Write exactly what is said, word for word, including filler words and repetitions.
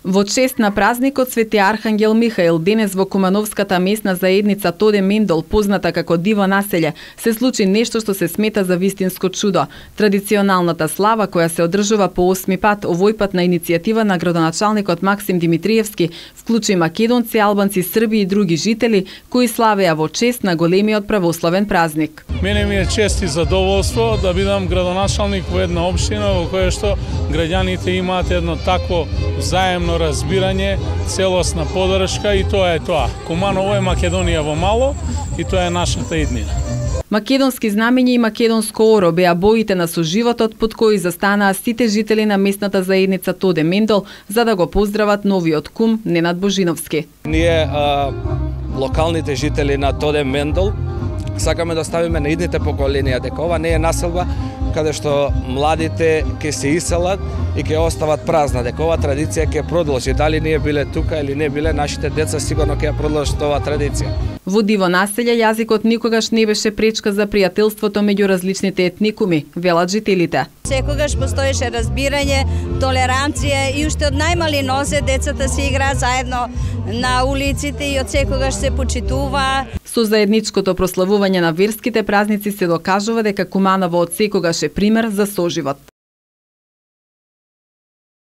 Во чест на празникот Свети Архангел Михаил, денес во Кумановската месна заедница Тоде Мендол, позната како Диво населје, се случи нешто што се смета за вистинско чудо. Традиционалната слава, која се одржува по осми пат, овој пат на иницијатива на градоначалникот Максим Димитриевски, вклучи македонци, албанци, срби и други жители, кои славеа во чест на големиот православен празник. Мене ми е чест и задоволство да бидам градоначалник во една општина во која што граѓаните имаат едно такво взаемно разбирање, целосна поддршка и тоа е тоа. Куманово е Македонија во мало и тоа е нашата иднина. Македонски знамења и македонско оро беа боите на соживотот под кои застанаа сите жители на местната заедница Тоде Мендол за да го поздрават новиот кум Ненад Божиновски. Ние а, локалните жители на Тоде Мендол сакаме да ставиме на идните поколенија дека ова не е населба каде што младите ќе се иселат и ќе остават празна, дека ова традиција ќе продолжи. Дали ние биле тука или не биле, нашите деца сигурно ќе ја продолжат оваа традиција. Во Диво населје јазикот никогаш не беше пречка за пријателството меѓу различните етникуми, велат жителите. Секогаш постоеше разбирање, толеранција и уште од најмали нозе децата се играат заедно на улиците и од секогаш се почитува. Со заедничкото прославување на верските празници се докажува дека Куманово од секогаш е пример за соживот.